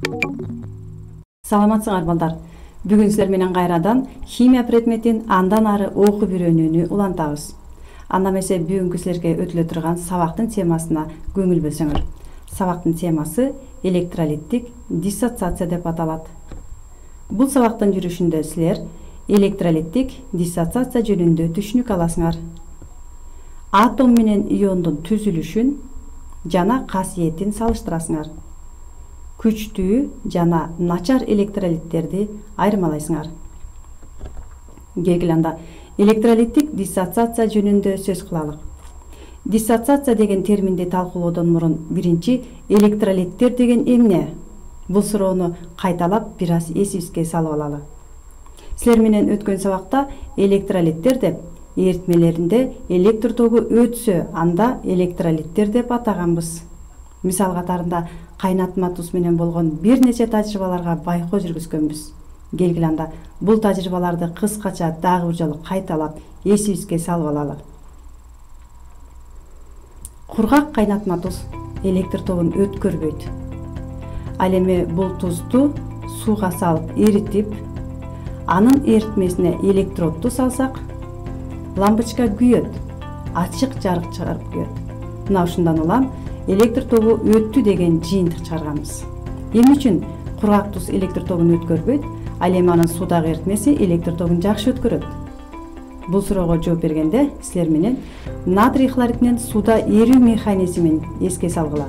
Саламатсыңар балдар. Бүгүн силер менен кайрадан химия предметин андан ары окуп үйрөнүүнү улантабыз. Анда эмесе бүгүнкү силерге өтүлө турган сабактын темасына көңүл бөлсөңөр. Сабактын темасы электролиттик диссоциация деп аталат. Бул сабактын жүрүшүндө силер электролиттик диссоциация жөнүндө түшүнүк аласыңар. Атом менен иондун түзүлүшүн жана касиетин салыштырасыңар. Күчтүү жана начар электролиттерди айырмалайсыңар. Келгиле анда электролиттик диссоциация жөнүндө сөз кылалык. Диссоциация деген терминди талкуулоодон мурун биринчи электролиттер деген эмне? Бул суроону кайталап бир аз эсибизге салып алалы. Силер менен өткөн сабакта электролиттер деп эритмелеринде электр тогу өтсө, анда электролиттер деп атаганбыз. Мисал катарында кайнатма туз менен болгон бир нече тажрыйбаларга байкоо жүргүзгөнбүз. Келгиле анда бул тажрыйбаларды кыскача дагы бир жолу кайталап эсибизге салып алалы. Кургак кайнатма туз электр тогун өткөрбөйт. Ал эми бул тузду сууга салып эритип, анын эритмесине электродду салсак, лампочка күйөт, ачык жарык чыгарып күйөт. Мына ушундан улам электр тогу өттү деген жыйынтык чыгарганбыз. Эмне үчүн кургак туз электр тогун өткөрбөйт, ал эми анын суудагы эритмеси электр тогун жакшы өткөрөт? Бул суроого жооп бергенде силер менен натрий хлоридинин сууда эрүү механизмин эске салгыла.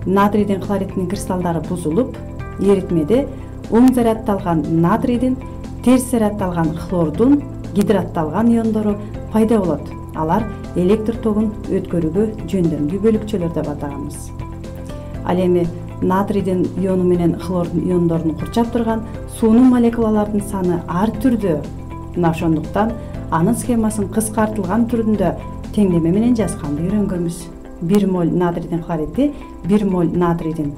Натрийдин хлоридинин кристаллдары бузулуп, эритмеде оң заряддалган натрийдин, терс заряддалган хлордун, гидратталган иондору пайда болот. Алар электр тогун өткөрүүгө жөндөмдүү бөлүкчөлөр деп атаганбыз. Ал эми натрийдин иону менен хлордун иондорун курчап турган суунун молекулаларынын саны ар түрдүү. Мына ошондуктан анын схемасын кыскартылган түрүндө теңдеме менен жазганды үйрөнгөнбүз. 1 моль натрийдин хлориди 1 моль натрийдин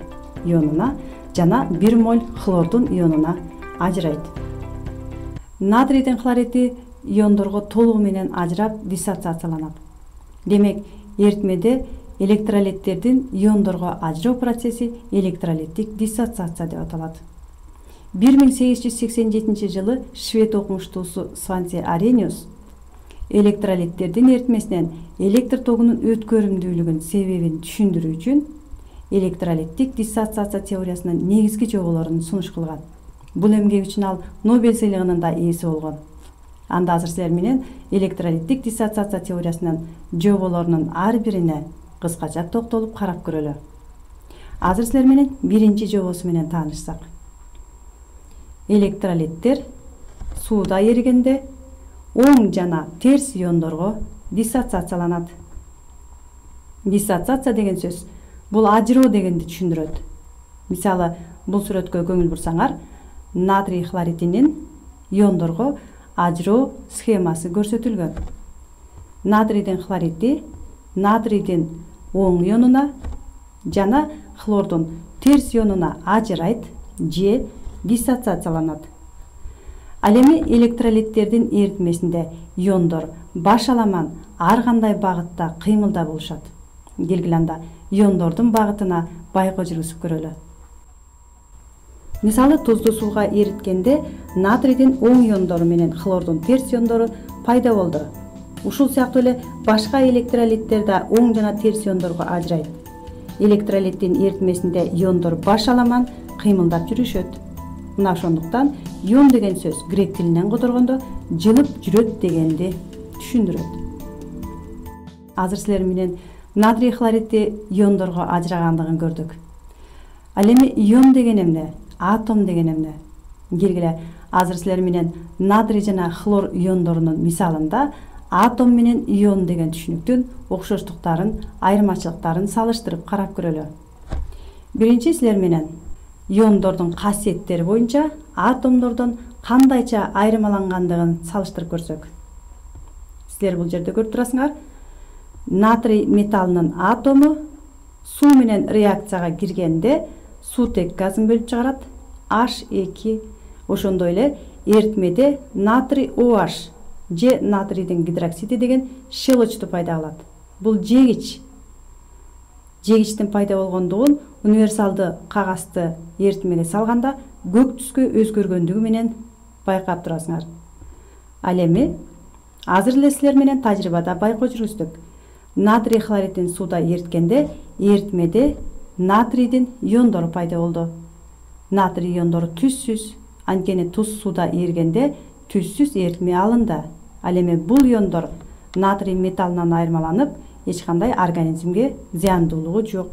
ионуна жана 1 моль хлордун ионуна ажырайт. Натрийдин хлориди иондорго толугу менен ажырап диссоциацияланат. Демек, эритмеде электролиттердин иондорго ажыроо процесси электролиттик диссоциация деп аталат. 1887 жылы швед окумуштуусу Сванти Арениус электролиттердин эритмесинен электр тогунун өткөрүмдүүлүгүнүн себебин түшүндүрүү үчүн электролиттик диссоциация теориясынын негизги жоболорун сунуш кылган. Бул эмгеги үчүн ал Нобель сыйлыгынын да ээси болгон. Анда азыр силер менен электролиттик диссоциация теориясынын жоболорунун ар бирине кыскача токтолуп карап көрөлү. Азыр силер менен биринчи жобосу менен таанышсак. Электролиттер сууда эригенде оң жана терс иондорго диссоциацияланат. Диссоциация деген сөз бул ажыроо дегенди түшүндүрөт. Мисалы, бул сүрөткө көңүл бурсаңар, натрий хлоридинин иондорго ажыроо схемасы көрсөтүлгөн. Натрийдин хлориди натрийдин оң ионуна жана хлордун терс ионуна ажырайт же диссоциацияланат. Ал эми электролиттердин эритмесинде иондор башаламан ар кандай багытта кыймылда болушат. Келгиле анда иондордун багытына байкоо жүргүзүп көрөлү. Мисалы, тузду сууга эриткенде натрийдин оң иондору менен хлордун терс иондору пайда болду. Ушул сыяктуу эле башка электролиттер да оң жана терс иондорго ажырайт. Электролиттин эритмесинде иондор башаламан кыймылдап жүрүшөт. Мына ошондуктан ион деген сөз грек тилинен которгондо жылып жүрөт дегенди түшүндүрөт. Азыр силер менен натрий хлориди иондорго ажырагандыгын көрдүк. Ал эми ион деген эмне? Атом деген эмне? Келгиле, азыр силер менен натрий жана хлор иондорунун мисалында атом менен ион деген түшүнүктүн окшоштуктарын, айырмачылыктарын салыштырып карап көрөлү. Биринчи силер менен иондордун касиеттери боюнча атомдордон кандайча айырмалангандыгын салыштырып көрсөк. Силер бул жерде көрүп турасыңар. Натрий металлынын атому суу менен реакцияга киргенде суутек газын бөлүп чыгарат, H2. Ошондой эле эритмеде натрий OH же натрийдин гидроксиди деген щелочту пайда кылат. Бул жегич. жегичтин пайда болгондугун универсалды кагазды эритмеге салганда көк түскө өзгөргөндүгү менен байкап турасыңар. Ал эми азыр эле силер менен тажрыйбада байкоо жүргүздүк. Натрий хлоридин сууда эриткенде эритмеде натрийдин иондору пайда болду. Натрий иондору түзсүз, анткени туз сууда эригенде түзсүз эритме алынды. Ал эми бул иондор натрий металлынан айырмаланып, эч кандай организмге зыяндуулугу жок.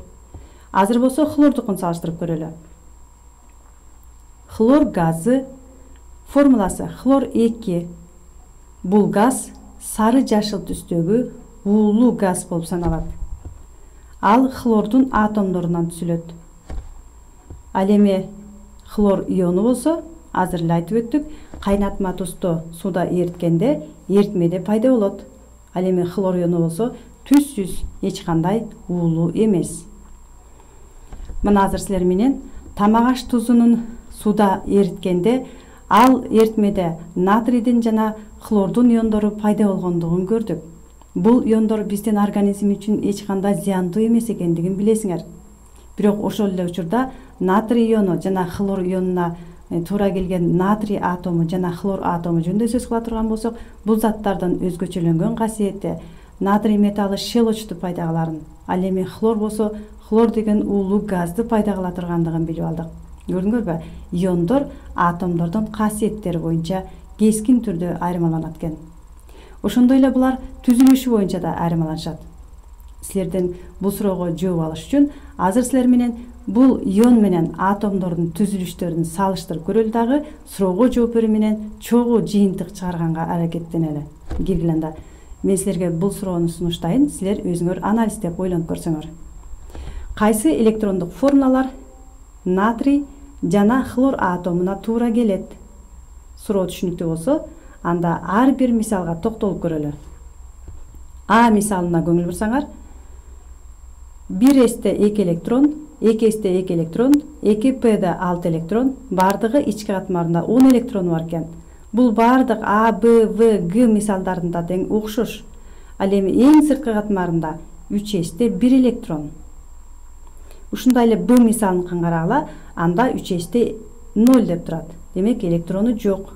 Азыр болсо хлордукун салыштырып көрөлү. Хлор газы формуласы хлор 2. Бул газ сары жашыл түстөгү уулуу газ болуп саналат. Ал хлордун атомдорунан түзүлөт. Ал эми хлор иону болсо, азыр эле айтып өттүк, кайнатма тузду сууда эриткенде эритмеде пайда болот. Ал эми хлор иону болсо түзсүз, эч кандай уулуу эмес. Мына азыр силер менен тамак аш тузунун сууда эриткенде ал эритмеде натрийдин жана хлордун иондору пайда болгондугун көрдүк. Бул иондор биздин организм үчүн эч кандай зыяндуу эмес экендигин билесиңер. Бирок ошол эле учурда натрий иону жана хлор ионуна туура келген натрий атому жана хлор атому жөнүндө сөз кыла турган болсок, бул заттардын өзгөчөлөнгөн касиети натрий металлы щелочту пайда кыларын. Ал эми хлор болсо, хлор деген уулуу газды пайда кыла тургандыгын билип алдык. Көрдүңөрбү? Иондор атомдордун касиеттери боюнча кескин түрдө айырмаланат экен. Ошондой эле булар түзүлүшү боюнча да айырмаланышат. Силерден бул суроого жооп алыш үчүн азыр силер менен бул ион менен атомдордун түзүлүштөрүн салыштырып көрөлү дагы суроого жооп берүү менен чогуу жыйынтык чыгарганга аракеттенели. Киргиле анда. Мен силерге бул суроону сунуштайын, силер өзүңөр анализдеп ойлонуп көрсөңөр. Кайсы электрондук формулалар натрий жана хлор атомуна туура келет? Суроо түшүнүктүү болсо, анда ар бир мисалга токтолуп көрөлү. А мисалына көңүл бурсаңар, 1s-те 2 электрон, 2s-те 2 электрон, 2p-де 6 электрон, бардыгы ички катмарында 10 электрону бар экен. Бул бардык А, Б, В, Г мисалдарында тең окшош. Ал эми эң сырткы катмарында 3s-те 1 электрон. Ушундай эле Б мисалын карагыла, анда 3s-те 0 деп турат. Демек электрону жок.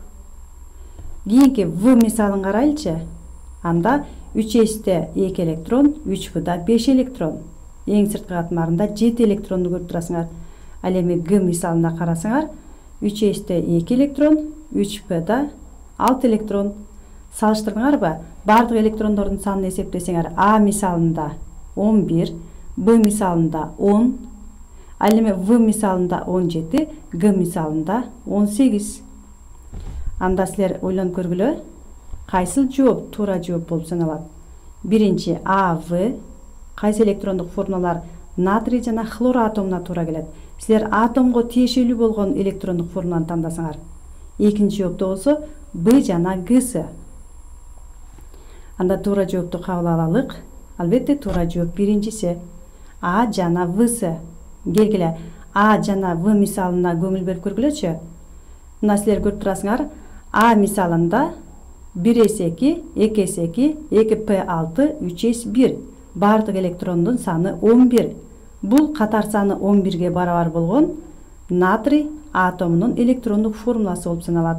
Кийинки В мисалын карайлычы. Анда 3s-те 2 электрон, 3p-да 5 электрон. Эң сырткы катмарында 7 электронду көрүп турасыңар. Ал эми Г мисалына карасаңар, 3s-те 2 электрон, 3p-да 6 электрон. Салыштырдыңарбы? Бардык электрондордун санын эсептесеңер, А мисалында 11, Б мисалында 10, ал эми В мисалында 17, Г мисалында 18. Анда силер ойлонуп көргүлө, кайсыл жооп туура жооп болуп саналат? Биринчи А, В. Кайсы электрондук формулалар натрий жана хлор атомуна туура келет? Силер атомго тиешелүү болгон электрондук формуланы тандасаңар. Экинчи жоопто болсо Б жана Гсы. Анда туура жоопту кабыл алалык. Албетте туура жооп биринчиси. А жана Всы. Келгиле, А жана В мисалына көңүл берип көргүлөчү. Мына силер көрүп турасыңар, А мисалында 1s2, 2s2, 2p6, 3s1. Бардык электрондун саны 11. Бул катар саны 11-ге барабар болгон натрий атомунун электрондук формуласы болуп саналат.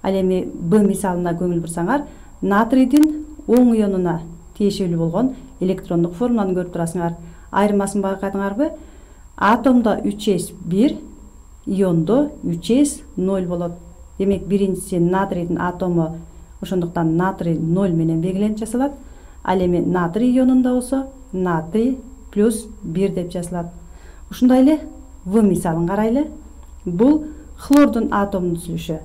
Ал эми Б мисалына көңүл бурсаңар, натрийдин оң ионуна тиешелүү болгон электрондук формуланы көрүп турасыңар. Айырмасын байкадыңарбы? Атомдо 3s1, иондо 3s0 болот. Демек биринчиси натрийдин атому, ошондуктан натрий 0 менен белгиленип жасалат. Ал эми натрий ионунда болсо натрий плюс 1 деп жазылат. Ушундай эле В мисалын карайлы. Бул хлордун атомунун түзүлүшү.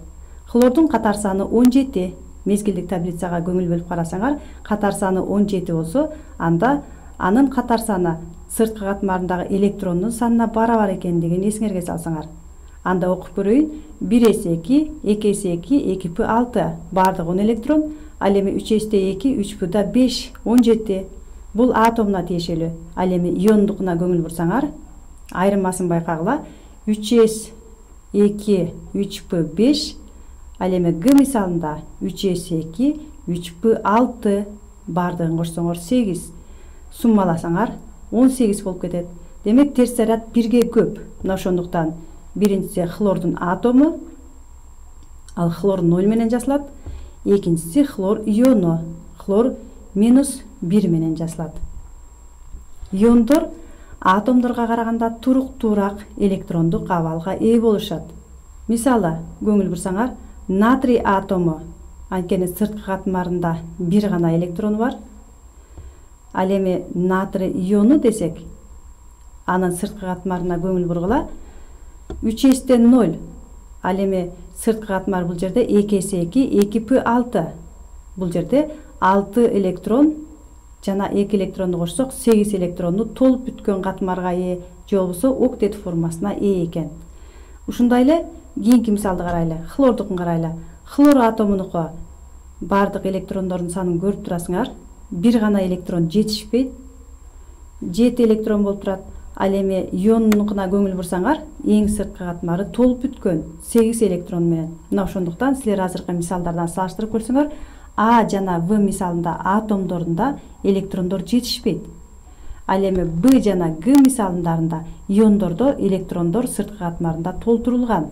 Хлордун катар саны 17. Мезгилдик таблицага көңүл бөлүп карасаңар, катар саны 17 болсо, анда анын катар саны сырткы катмарындагы электрондун санына барабар экендигин эсиңерге салсаңар. Анда окуп көрөйүн. 1s2, 2s2, 2p6. Бардык 10 электрон. Ал эми 3s-те 2, 3p-да 5, 17. Бул атомуна тиешелүү. Ал эми иондукуна көңүл бурсаңар, айырмасын байкагыла. 3s2, 3p5. Ал эми Г мисалында 3s2, 3p6. Бардыгын кошсоңор 8. Суммаласаңар 18 болуп кетет. Демек терс заряд 1ге көп. Мына ошондуктан биринчиси хлордун атому, ал хлор 0 менен жасалат. Экинчиси хлор иону, хлор -1 менен жасалат. Иондор атомдорго караганда туруктуураак электрондук абалга ээ болушат. Мисалы, көңүл бурсаңар, натрий атому, анткени сырткы катмарында бир гана электрон бар. Ал эми натрий иону десек, анын сырткы катмарына көңүл бургула 3s/0. Ал эми сырткы катмар бул жерде 2s2 2p6. Бул жерде 6 электрон жана 2 электронду кошсок 8 электронду толуп бүткөн катмарга ээ, же болбосо октет формасына ээ экен. Ушундай эле кийинки мисалды карайлы. Хлордукун карайлы. Хлор атомунуку бардык электрондордун санын көрүп турасыңар. Бир гана электрон жетишпейт. 7 электрон болуп турат. Ал эми ионунукуна көңүл бурсаңар, эң сырткы катмары толуп бүткөн 8 электрон менен. Мына ошондуктан силер азыркы мисалдардан салыштырып көрсөңөр, А жана В мисалында атомдорунда электрондор жетишпейт. Ал эми Б жана Г мисалдарында иондордо электрондор сырткы катмарында толтурулган.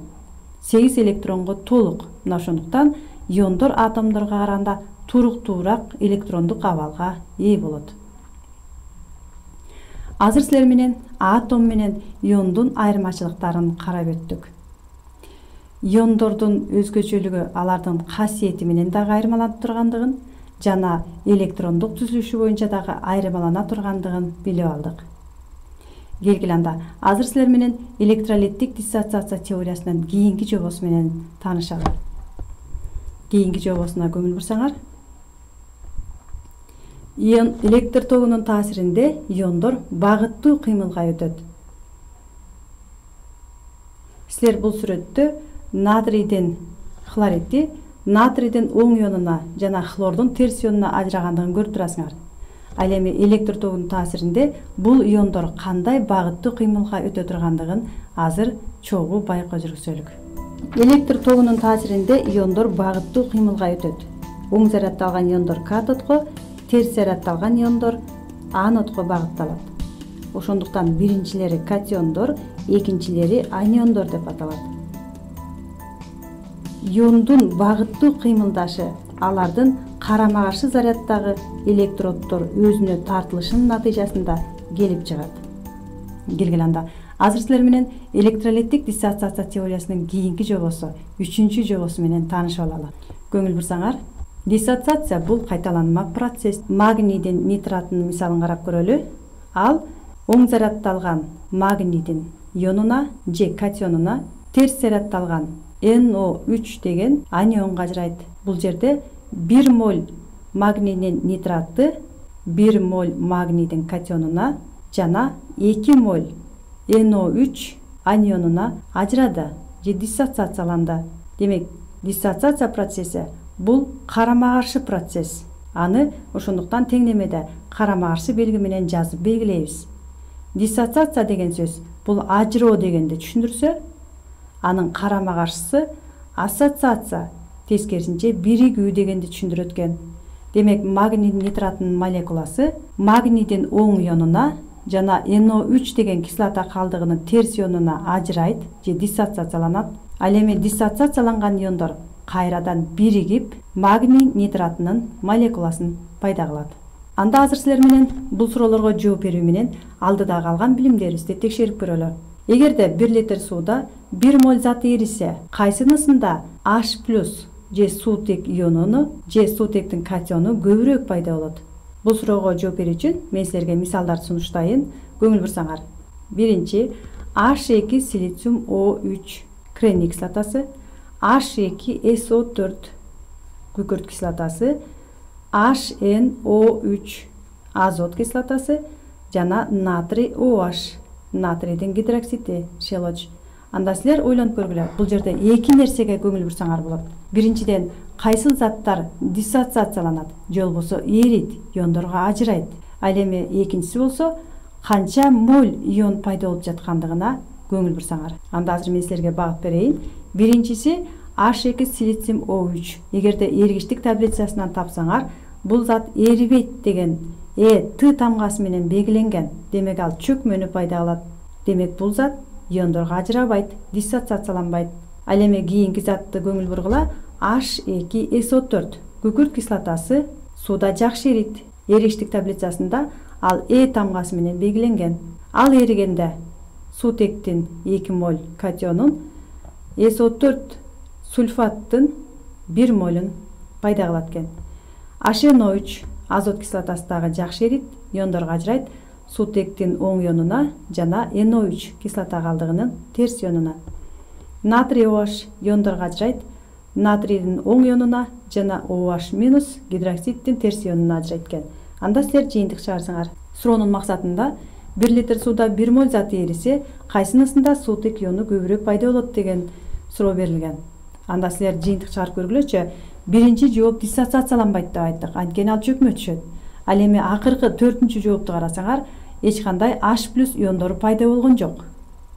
8 электронго толук. Мына ошондуктан иондор атомдорго караганда туруктуураак электрондук абалга ээ болот. Азыр силер менен атом менен иондун айырмачылыктарын карап өттүк. Иондордун өзгөчөлүгү алардын касиети менен дагы айырмаланып тургандыгын жана электрондук түзүлүшү боюнча дагы айырмалана тургандыгын билип алдык. Келгиле анда азыр силер менен электролиттик диссоциация теориясынын кийинки жобосу менен таанышалы. Кийинки жобосуна көңүл бурсаңар, ион электр тогунун таасиринде иондор багыттуу кыймылга өтөт. Силер бул сүрөттө натрийдин хлоридди натрийдин оң ионуна жана хлордун терс ионуна ажырагандыгын көрүп турасыңар. Ал эми электр тогунун таасиринде бул иондор кандай багыттуу кыймылга өтө тургандыгын азыр чогуу байкоо жүргүзөлүк. Электр тогунун таасиринде иондор багыттуу кыймылга өтөт. Оң зарядталган иондор катодко, терс зарядталган иондор анодко багытталат. Ошондуктан биринчилери катиондор, экинчилери аниондор деп аталат. Иондун багыттуу кыймылдашы алардын карама каршы заряддагы электроддор өзүнө тартылышынын натыйжасында келип чыгат. Келгиле анда азыр силер менен электролиттик диссоциация теориясынын кийинки жобосу, 3-чү жобосу менен таанышып алалы. Көңүл бурсаңар, диссоциация бул кайталанма процесс. Магнийдин нитратынын мисалын карап көрөлү. Ал оң зарядталган магнийдин ионуна же катионуна терс зарядталган NO3 деген анионго ажырайт. Бул жерде 1 моль магнийдин нитратты 1 моль магнийдин катионуна жана 2 моль NO3 анионуна ажырады же диссоциацияланды. Демек, диссоциация процесси бул карама каршы процесс. Аны ошондуктан теңдемеде карама каршы белги менен жазып белгилейбиз. Диссоциация деген сөз бул ажыроо дегенди түшүндүрсө, анын карама каршысы ассоциация, тескерисинче биригүү дегенди түшүндүрөт экен. Демек, магний нитратынын молекуласы магнийдин оң ионуна жана NO3 деген кислота калдыгынын терс ионуна ажырайт же диссоциацияланат. Ал эми диссоциацияланган иондор кайрадан биригип магний нитратынын молекуласын пайда кылат. Анда азыр силер менен бул суроолорго жооп берүү менен алдыда калган билимдерибизди текшерип көрөлү. Эгерде 1 литр сууда 1 моль зат эрисе, кайсынысында H+ же суутек ионуну же суутектин катиону көбүрөөк пайда болот? Бул суроого жооп берүү үчүн мен силерге мисалдарды сунуштайын. Көңүл бурсаңар. Биринчи H2 силициум O3 кремний кислотасы, H2SO4 күкүрт кислотасы, HNO3 азот кислотасы жана натрий OH натрийдин гидроксиди шелоч. Анда силер ойлонуп көргүлө. Бул жерде эки нерсеге көңүл бурсаңар болот. Биринчиден, кайсыл заттар диссоциацияланат, же болбосо эрийт, иондорго ажырайт. Ал эми экинчиси болсо, канча моль ион пайда болуп жаткандыгына көңүл бурсаңар. Анда азыр мен силерге багып берейин. Биринчиси H2 силициум O3. Эгерде эргичтик таблицасынан тапсаңар, бул зат эрибейт деген Т тамгасы менен белгиленген. Демек ал чөкмөнү пайда кылат. Демек бул зат иондорго ажырабайт, диссоциацияланбайт. Ал эми кийинки затты көңүл бургула. H2SO4 күкүрт кислотасы сууда жакшы эрийт. Эриштик таблицасында ал тамгасы менен белгиленген. Ал эригенде суутектин 2 моль катионун SO4 сульфаттын 1 молун пайда кылат экен. HNO3 азот кислотасы дагы жакшы эрийт, иондорго ажырайт суутектин оң ионуна жана NO3 кислота калдыгынын терс ионуна. Натрий OH иондорго ажырайт натрийдин оң ионуна жана OH- гидроксиддин терс ионуна ажырайт экен. Анда силер жыйынтык чыгарсаңар. Суроонун максатында 1 литр сууда 1 моль зат эрисе, кайсынысында суутек иону көбүрөөк пайда болот деген суроо берилген. Анда силер жыйынтык чыгарып көргүлөчү. Биринчи жооп диссоциацияланбайт деп айттык. Анткени ал чөкмө түшөт. Ал эми акыркы 4-чү жоопту карасаңар, эч кандай H+ иондору пайда болгон жок.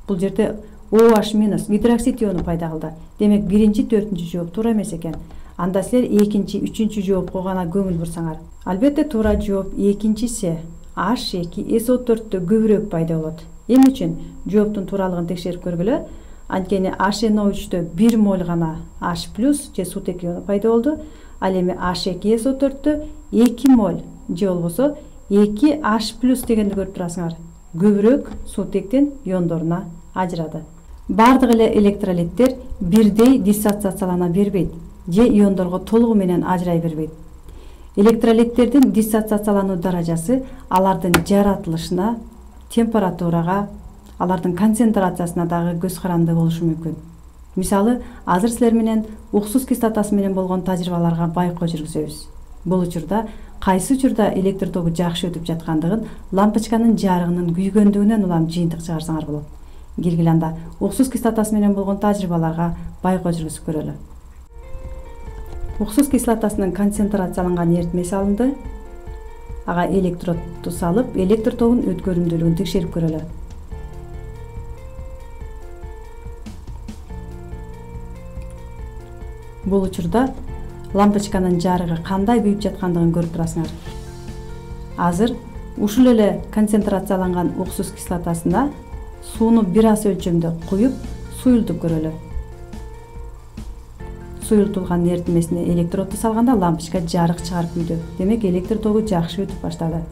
Бул жерде OH- гидроксид иону пайда кылды. Демек биринчи 4-чү жооп туура эмес экен. Анда силер 2-чи, 3-чү жоопко гана көңүл бурсаңар. Албетте туура жооп 2-си. H2SO4 көбүрөөк пайда болот. Эмне үчүн? Жооптун тууралыгын текшерип көргүлө. Анткени HNO3 1 моль гана H+ же суутек иону пайда болду. Ал эми H2SO4 2 моль же болбосо 2H+ дегенди көрүп турасыңар. Көбүрөөк суутектин иондоруна ажырады. Бардык эле электролиттер бирдей диссоциациялана бербейт же иондорго толугу менен ажырай бербейт. Электролиттердин диссоциациялануу даражасы алардын жаратылышына, температурага, алардын концентрациясына дагы көз каранды болушу мүмкүн. Мисалы, азыр силер менен уксус кислотасы менен болгон тажрыйбаларга байкоо жүргүзөбүз. Бул учурда кайсы учурда электр тогу жакшы өтүп жаткандыгын лампочканын жарыгынын күйгөндүгүнөн улам жыйынтык чыгарсаңар болот. Келгиле анда уксус кислотасы менен болгон тажрыйбаларга байкоо жүргүзүп көрөлү. Уксус кислотасынын концентрацияланган эритмеси алынды. Ага электродду салып, электр тогунун өткөрүмдүүлүгүн текшерип көрөлү. Бул учурда лампочканын жарыгы кандай күйүп жаткандыгын көрүп турасыңар. Азыр ушул эле концентрацияланган уксус кислотасына сууну бир аз өлчөмдө куюп, суюлтуп көрөлү. Суюлтулган эритмесине электродду салганда лампочка жарык чыгарып күйдү. Демек электр тогу жакшы өтүп баштады.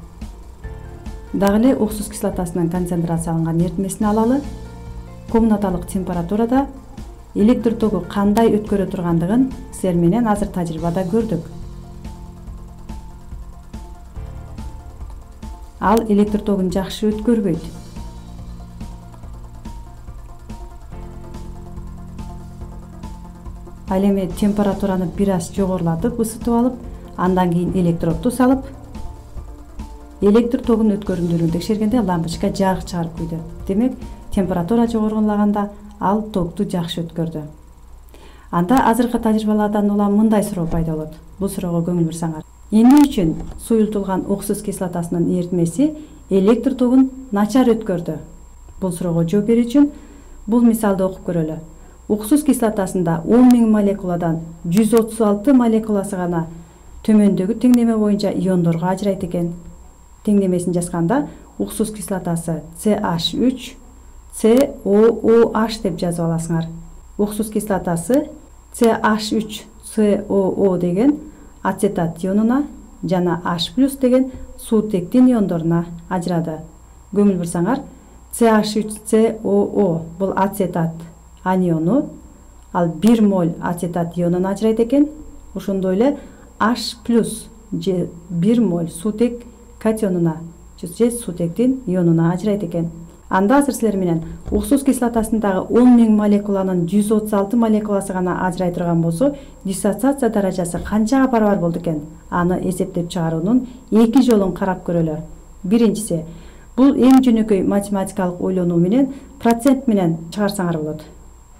Дагы эле уксус кислотасынын концентрацияланган эритмесин алалы. Комнаталык температурада электр тогу кандай өткөрө тургандыгын силер менен азыр тажрыйбада көрдүк. Ал электр тогун жакшы өткөрбөйт. Ал эми температураны бир аз жогорулатып, ысытып алып, андан кийин электродду салып, электр тогунун өткөрүмдүүлүгүн текшергенде лампочка жарык чыгарып күйдү. Демек, температура жогорулаганда ал токту жакшы өткөрдү. Анда азыркы тажрыйбалардан улам мындай суроо пайда болот. Бул суроого көңүл бурсаңар. Эмне үчүн суюлтулган уксус кислотасынын эритмеси электр тогун начар өткөрдү? Бул суроого жооп берүү үчүн бул мисалды окуп көрөлү. Уксус кислотасында 10.000 молекуладан 136 молекуласы гана төмөндөгү теңдеме боюнча иондорго ажырайт экен. Теңдемесин жазганда уксус кислотасы CH3 COOH деп жазып аласыңар. Уксус кислотасы CH3COO деген ацетат ионуна жана H+ деген суутектин иондоруна ажырады. Көңүл бурсаңар, CH3COO бул ацетат аниону, ал 1 моль ацетат ионун ажырайт экен. Ошондой эле H+ же 1 моль суутек катионуна же суутектин ионуна ажырайт экен. Анда азыр силер менен уксус кислотасындагы 10.000 молекуланын 136 молекуласы гана ажырай турган болсо, диссоциация даражасы канчага барабар болду экен? Аны эсептеп чыгаруунун 2 жолун карап көрөлү. Биринчиси, бул эң жөнөкөй математикалык ойлонуу менен процент менен чыгарсаңар болот.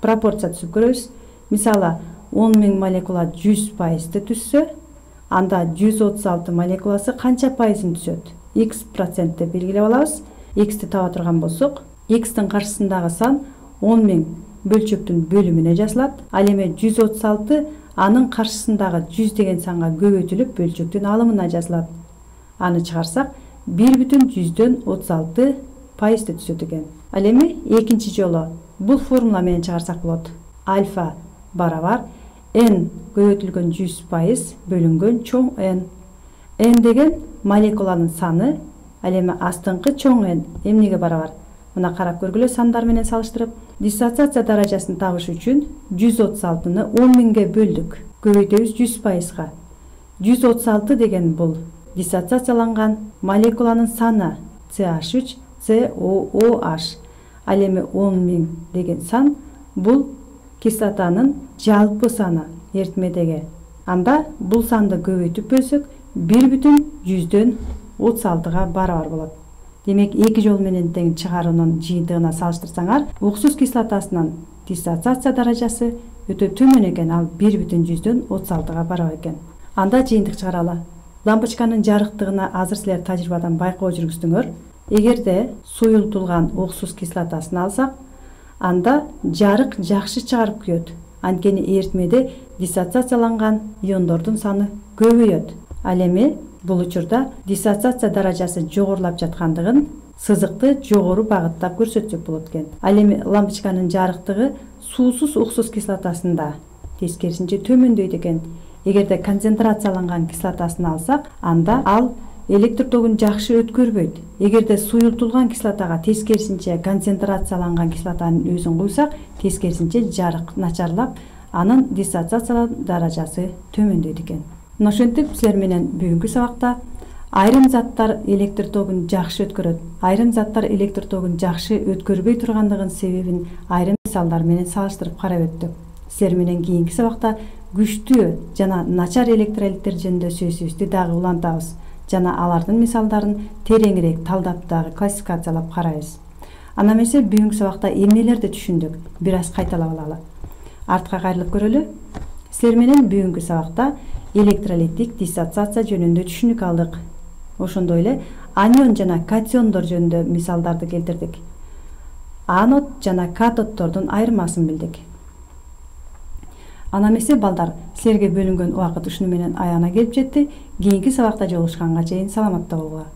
Пропорция түзүп көрөбүз. Мисалы, 10.000 молекула 100% түзсө, анда 136 молекуласы канча пайызын түзөт? X процент деп белгилеп алабыз. X'ти таба турган болсок, X'тин каршысындагы сан 10.000 бөлчөктүн бөлүмүнө жазылат. Ал эми 136 анын каршысындагы 100 деген санга көбөйтүлүп бөлчөктүн алымына жазылат. аны чыгарсак 1,36% түшөт экен. Ал эми экинчи жолу бул формула менен чыгарсак болот. Альфа барабар n көбөйтүлгөн 100% бөлүнгөн чоң n. N деген молекуланын саны, ал эми астыңкы чоң n эмнеге барабар? Мына карап көргүлө сандар менен салыштырып. Диссоциация даражасын табыш үчүн 136-ны 10.000ге бөлдүк. Көбөйтөбүз 100%га. 136 деген бул диссоциацияланган молекуланын саны CH3 COOH. Ал эми 10.000 деген сан бул кислотанын жалпы саны эритмедеги. Анда бул санды көбөйтүп бөлсөк 1,36-га барабар болот. Демек, эки жол менен тең чыгаруунун жыйынтыгына салыштырсаңар, уксус кислотасынын диссоциация даражасы өтө төмөн экен, ал 1,36-га барабар экен. Анда жыйынтык чыгаралы. Лампочканын жарыктыгына азыр силер тажрыйбадан байкоо жүргүздүңөр. Эгерде суюлтулган уксус кислотасын алсак, анда жарык жакшы чыгарып күйөт. Анткени эритмеде диссоциацияланган иондордун саны көбөйөт. Ал эми бул учурда диссоциация даражасы жогорулап жаткандыгын сызыкты жогору багыттап көрсөтсөк болот экен. Ал эми лампочканын жарыктыгы суусуз уксус кислотасында тескерисинче төмөндөйт экен. Эгерде концентрацияланган кислотасын алсак, анда ал электр тогун жакшы өткөрбөйт. Эгерде суюлтулган кислотага тескерисинче концентрацияланган кислотанын өзүн куйсак, тескерисинче жарык начарлап, анын диссоциация даражасы төмөндөйт экен. Мына ошентип силер менен бүгүнкү сабакта айрым заттар электр тогун жакшы өткөрөт, айрым заттар электр тогун жакшы өткөрбөй тургандыгын себебин айрым мисалдар менен салыштырып карап өттүк. Силер менен кийинки сабакта күчтүү жана начар электролиттер жөнүндө сөзүбүздү дагы улантабыз жана алардын мисалдарын тереңирээк талдап дагы классификациялап карайбыз. Ана эмесе бүгүнкү сабакта эмнелерди түшүндүк, бир аз кайталап алалы. Артка кайрылып көрөлү. Силер менен бүгүнкү сабакта электролиттик диссоциация жөнүндө түшүнүк алдык. Ошондой эле анион жана катиондор жөнүндө мисалдарды келтирдик. Анод жана катоддордун айырмасын билдик. Ана эмесе балдар, силерге бөлүнгөн убакыт ушуну менен аягына келип жетти. Кийинки сабакта жолугушканга чейин саламатта болгула.